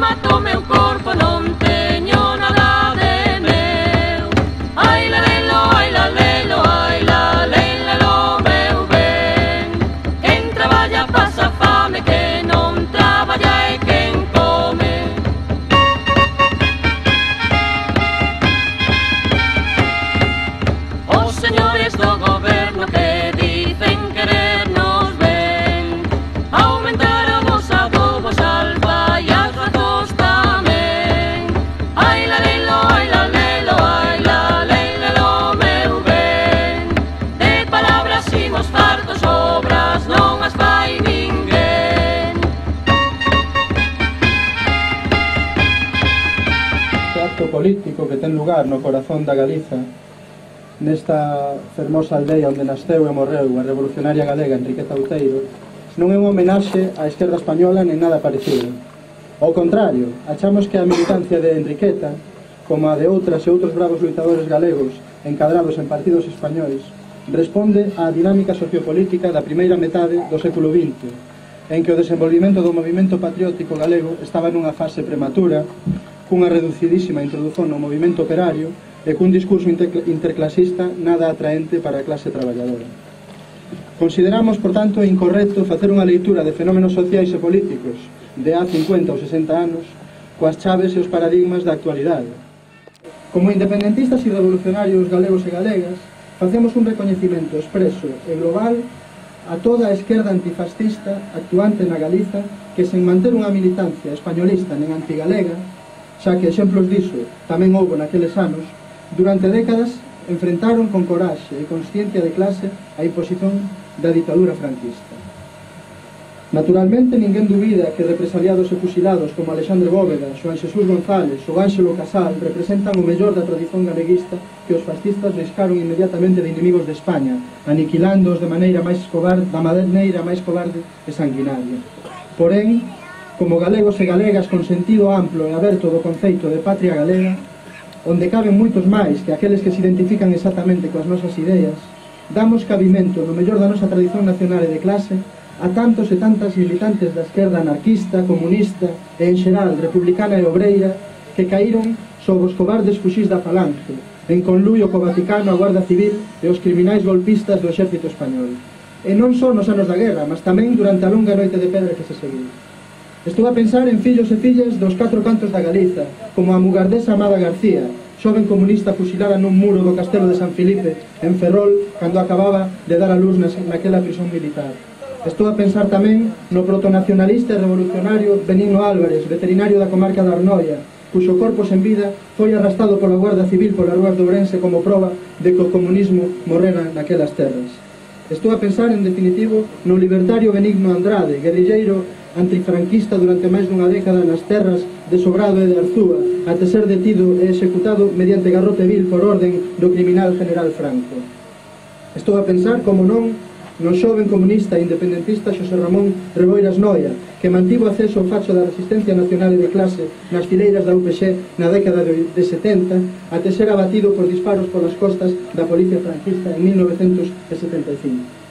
mato meu corpo, non teño nada de meu. Ai la lelo, ai la lelo, ai la lelo, meu ben. Quen traballa pasa fame, que non traballa é quen come. Os señores do goberno que dicen querernos ben, aumentar a vos adobos, alfa e as razos tamén. Ai la lelo, ai la lelo, ai la lelo, meu ben. De palabras imos fartos, obras non as fai ninguén. O acto político que ten lugar no corazón da Galiza, nesta fermosa aldea onde nasceu e morreu a revolucionaria galega Enriqueta Outeiro, non é unha homenaxe á esquerda española nen nada parecido. Ao contrario, achamos que a militancia de Enriqueta, como a de outras e outros bravos luitadores galegos encadrados en partidos españois, responde á dinámica sociopolítica da primeira metade do século XX, en que o desenvolvimento do movimento patriótico galego estaba nunha fase prematura, cunha reducidísima introdución no movimento operario e cun discurso interclasista nada atraente para a clase traballadora. Consideramos, por tanto, incorrecto facer unha leitura de fenómenos sociais e políticos de há 50 ou 60 anos coas chaves e os paradigmas da actualidade. Como independentistas e revolucionarios galegos e galegas, facemos un recoñecimento expreso e global a toda a esquerda antifascista actuante na Galiza que, sen manter unha militancia españolista nen antigalega, xa que exemplos diso tamén houbo naqueles anos, durante décadas enfrentaron con coraxe e consciencia de clase a imposición da ditadura franquista. Naturalmente, ninguén dubida que represaliados e fusilados como Alexandre Bóveda, Xoán Xesús González ou Ánxelo Casal representan o mellor da tradición galeguista que os fascistas riscaron inmediatamente de inimigos de España, aniquilándoos de maneira máis cobarde, da maneira máis cobarde e sanguinaria. Porén, como galegos e galegas con sentido amplo e aberto do conceito de patria galega, onde caben moitos máis que aqueles que se identifican exactamente coas nosas ideas, damos cabimento no mellor da nosa tradición nacional e de clase a tantos e tantas militantes da esquerda anarquista, comunista e, en xeral, republicana e obreira que caíron sob os cobardes fuxís da Falange, en conluio co Vaticano, a Guarda Civil e os criminais golpistas do exército español. E non só nos anos da guerra, mas tamén durante a longa noite de pedra que se seguiu. Estou a pensar en fillos e fillas dos 4 cantos da Galiza, como a mugardesa Amada García, xoven comunista fusilada nun muro do castelo de San Filipe, en Ferrol, cando acababa de dar a luz naquela prisión militar. Estou a pensar tamén no protonacionalista e revolucionario Benigno Álvarez, veterinario da comarca da Arnoia, cuxo corpo sen vida foi arrastado pola Guarda Civil polas rúas de Ourense como proba de que o comunismo morrera naquelas terras. Estou a pensar, en definitivo, no libertario Benigno Andrade, guerrilleiro antifranquista durante máis dunha década nas terras de Sobrado e de Arzúa, até ser detido e executado mediante garrote vil por orden do criminal general Franco. Estou a pensar, como non, no xoven comunista e independentista Xosé Ramón Reboiras Noia, que mantivo acceso ao facho da resistencia nacional e de clase nas fileiras da UPX na década de 70, até ser abatido por disparos polas costas da policía franquista en 1975.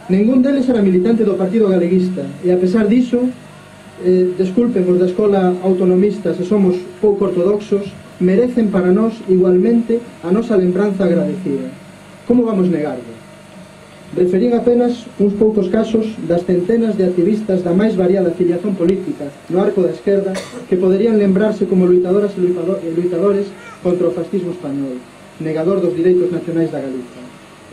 Ningún deles era militante do Partido Galeguista e, a pesar diso, desculpen os da escola autonomista se somos pouco ortodoxos, merecen para nós igualmente a nosa lembranza agradecida. Como vamos negarlo? Referín apenas uns poucos casos das centenas de activistas da máis variada afiliación política no arco da esquerda que poderían lembrarse como luitadoras e luitadores contra o fascismo español, negador dos direitos nacionais da Galiza.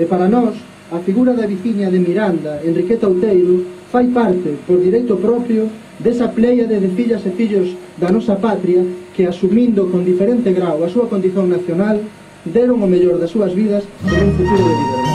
E para nós, a figura da viciña de Miranda, Enriqueta Outeiro, fai parte, por direito propio, desa pléiade de fillas e fillos da nosa patria que, asumindo con diferente grau a súa condición nacional, deron o mellor das súas vidas por un futuro de liberdade.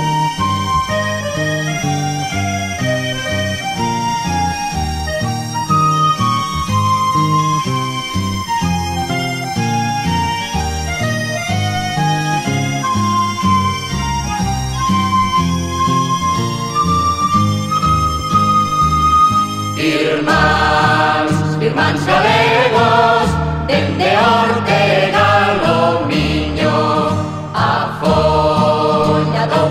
Irmáns galegos, dende Ortega ao Miño, a folla do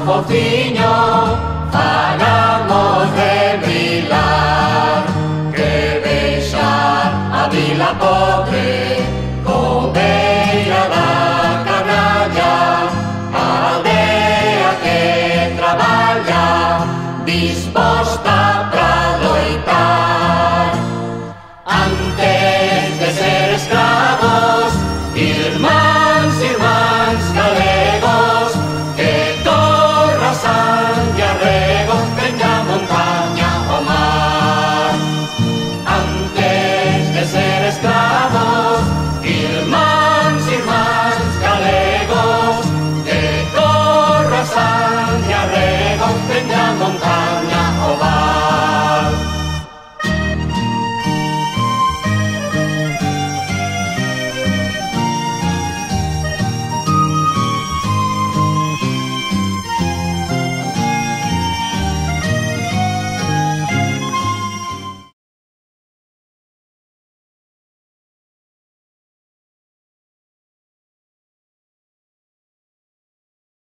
que